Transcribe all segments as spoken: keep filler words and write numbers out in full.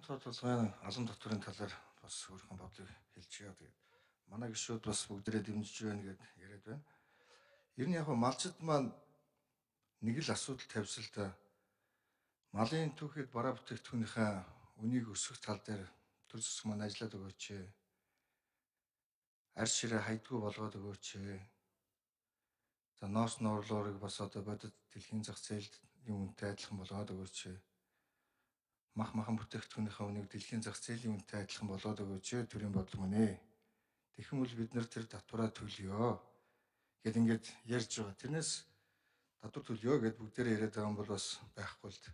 Тод толгойн алан дотврын талаар бас өөрийнхөө бодлыг хэлчихье. Тэгээд манай гишүүд бас бүгдээрээ дэмжиж байна гэд яриад байна. Ер нь яг нь малчид маань нэг л асуудал тавьсан л да. Малын түүхэд бараа бүтээгдэхүүнийхээ үнийг өсгөх тал дээр төр зэсэг маань ажиллаад өгөөч. Арь ширээ хайдгуу болгоод өгөөч. За ноос нуурлуурыг бас одоо бодит дэлхийн зах зээлд юм үнэтэй адилхан болгоод өгөөч. Мах махан бүтээгдэхүүнийхээ үнийг дэлхийн зах зээлийн үнэтэй адилхан болгоод өгөөч төрийн бодол мөн ээ. Тэгэх бол бид нар тэр татвараа төлөё гэд ингээд ярьж байгаа. Тэрнээс татвар төлөё гэд бүгдээрээ яриад байгаа юм бол бас байхгүй л.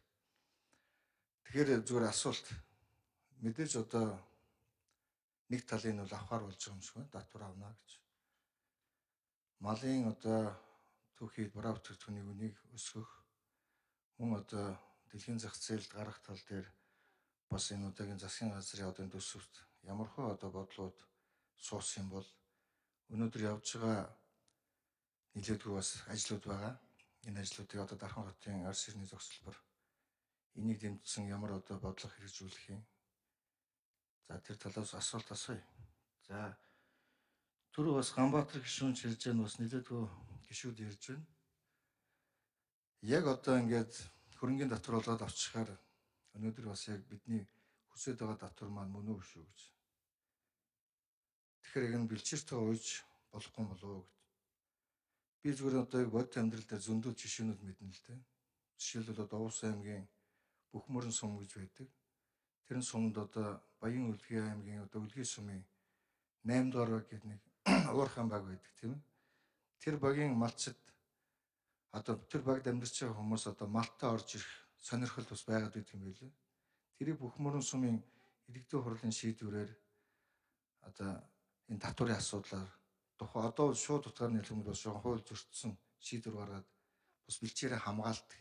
Тэгэхээр зүгээр асуулт. Мэдээж одоо нэг талын нь бол авахар болж байгаа юм шиг байна. Татвар авна гэж. Малын одоо түүхийд бараа бүтээгдэхүүний үнийг өсгөх мөн одоо дэлхийн зах зээлд гарах тал дээр бас энэ удаагийн засгийн газрын одоо төсөвт ямар хөө одоо бодлууд суусан юм бол өнөөдөр явж байгаа нийлээдгүй бас ажлууд байгаа. Энэ ажлуудыг одоо Дархан хотын арс ирний зохицолбор энийг дэмжсэн ямар одоо бодлого хэрэгжүүлэх юм. За тэр талаас асуулт асууя. За түрүү бас Ганбаатар гишүүн хэлж байгаа нь бас нийлээдгүй гишүүд ярьж байна. Яг одоо ингээд хөрөнгөний татвар болоод авчихаар өнөөдөр бас яг бидний хүсэж байгаа татвар маань мөн үү шүү гэж. Тэгэхээр яг нь бэлчээртэйгээ ууж болохгүй болов уу гэд. Би зүгээр одоо яг бодит амьдрал дээр зөндөө жишээнүүд мэднэ л дээ. Жишээлбэл одоо Овс аймгийн Бүхмөрөн сум гэж байдаг. Тэр нь сумд одоо Баян Үлгий аймгийн одоо Үлгий сумын найм дугаар баг гэдэг нэг уурхайн баг байдаг тийм ээ. Тэр багийн малчид одоо тэр багт амьдарч байгаа хүмүүс одоо малтаа орж ирэх сонирхол бас байгаад байдаг юм билээ. Тэрийг Бүхмөрөн сумын иргэдийн хурлын шийдвэрээр одоо энэ татварын асуудлаар тухай одоо шууд утгаар нэлээд бас хууль зөрчсөн шийдвэр гаргаад бас бэлчээрээ хамгаалдаг.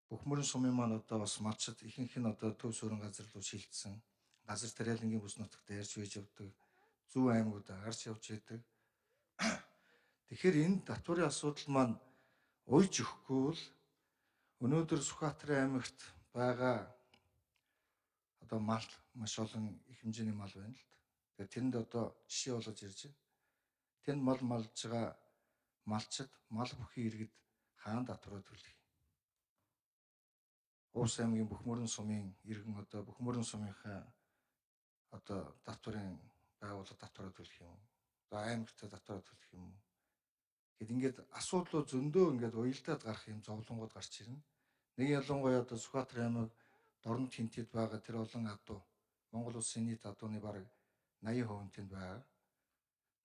Бүхмөрөн сумын маань одоо бас малчид ихэнх нь одоо төв суурин газар руу шилжсэн. Газар тариалангийн бүс нутагт ярьж байж явдаг. Зүүн аймагуудаа гарч явж байдаг. Тэгэхээр энэ татварын асуудал маань уйж өгөхгүй бол өнөөдөр Сүхбаатарын аймагт байгаа одоо мал маш олон их хэмжээний мал байна л. Тэгэхээр тэнд одоо жишээ болгож ирж байна. Тэнд мал малж байгаа малчид мал бүхий иргэд хаан татвараа төлөх. Увс аймгийн Бүхмөрөн сумын иргэн одоо Бүхмөрөн сумынхаа одоо татварын байгууллага татвараа төлөх юм. За аймагтаа татвараа төлөх юм. Гэт ингээд асуудлууд зөндөө ингээд уялдаад гарах юм зовлонгууд гарч ирнэ. Нэг ялангуяа одоо Сүхбаатар аймаг Дорнод хинтэд байгаа тэр олон адуу Монгол улсын нийт адууны бараг eighty percent тэнд байгаа.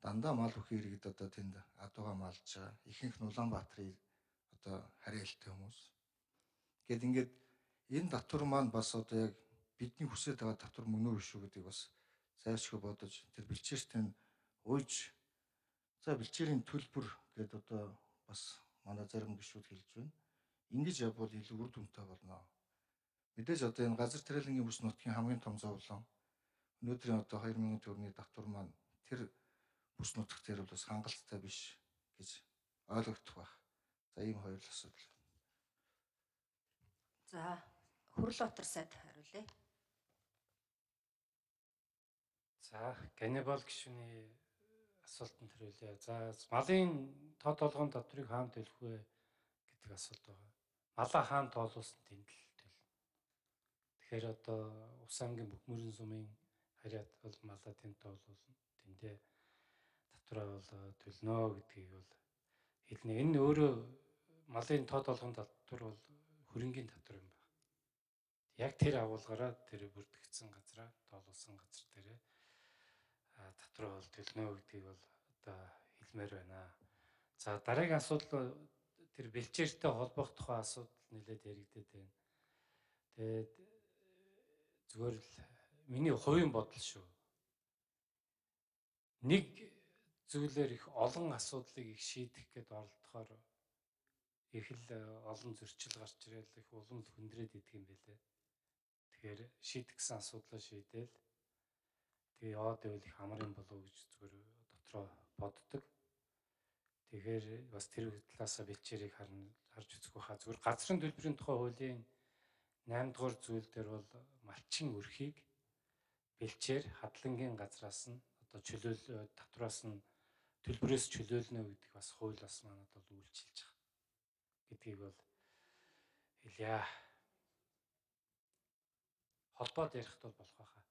Дандаа мал бүхий иргэд одоо тэнд адуугаа малж байгаа. Ихэнх нь Улаанбаатарын одоо харьяалтай хүмүүс. Гэт ингээд энэ татвар маань бас одоо яг бидний хүсэж байгаа татвар мөн үү шүү гэдгийг бас зайлшгүй бодож тэр бэлчээртэн уйж за бэлчээрийн төлбөр гэдэг одоо бас манай зарим гишүүд хэлж байна. Ингэж явбал илүү үр дүнтэй болно. Мэдээж одоо энэ газар тариалангийн бүс нутгийн хамгийн том зовлон өнөөдрийн одоо two thousand төгрөгийн татвар маань тэр бүс нутгт дээр бол бас хангалттай биш гэж ойлгогдох байх. За ийм хоёр л асуудал. За Хүрлбаатар сайд хариулъя. За Ганнибал гишүүний асуултанд хариулъя. За малын тоо толгойн татварыг хаана төлөх вэ гэдэг асуулт байгаа. Малаа хаана тоолуулсан тэнд л төлнө. Тэгэхээр одоо Ус аймгийн Бүхмөрөн сумын харьяат бол малаа тэнд тоолуулна. Тэндээ татвараа бол төлнө гэдгийг бол хэлнэ. Энэ өөрөө малын тоо толгойн татвар бол хөрөнгийн татвар юм байна. Яг тэр агуулгаараа тэр бүрдэгдсэн газараа тоолуулсан газар дээрээ татвар бол төлнө гэдгийг бол одоо хэлмээр байна. За дараагийн асуудал тэр бэлчээртэй холбох тухай асуудал нэлээд яригдээд байна. Тэгээд зүгээр л миний хувийн бодол шүү. Нэг зүйлээр их олон асуудлыг их шийдэх гээд оролдохоор их л олон зөрчил гарч ирэл их улам л хүндрээд идэх юм байлээ. Тэгэхээр шийдэх гэсэн асуудлаа шийдээл тэгээ яваад байвал их амар юм болов уу гэж зүгээр дотроо боддог. Тэгэхээр бас тэр талаасаа бэлчээрийг харна харж үзэх байхаа зүгээр газрын төлбөрийн тухай хуулийн найман дугаар зүйл дээр бол малчин өрхийг бэлчээр хадлангийн газраас нь одоо чөлөөл татвараас нь төлбөрөөс чөлөөлнө гэдэг бас хууль бас манад бол үйлчилж байгаа гэдгийг бол хэлье. Холбоод ярихд бол болох байхаа.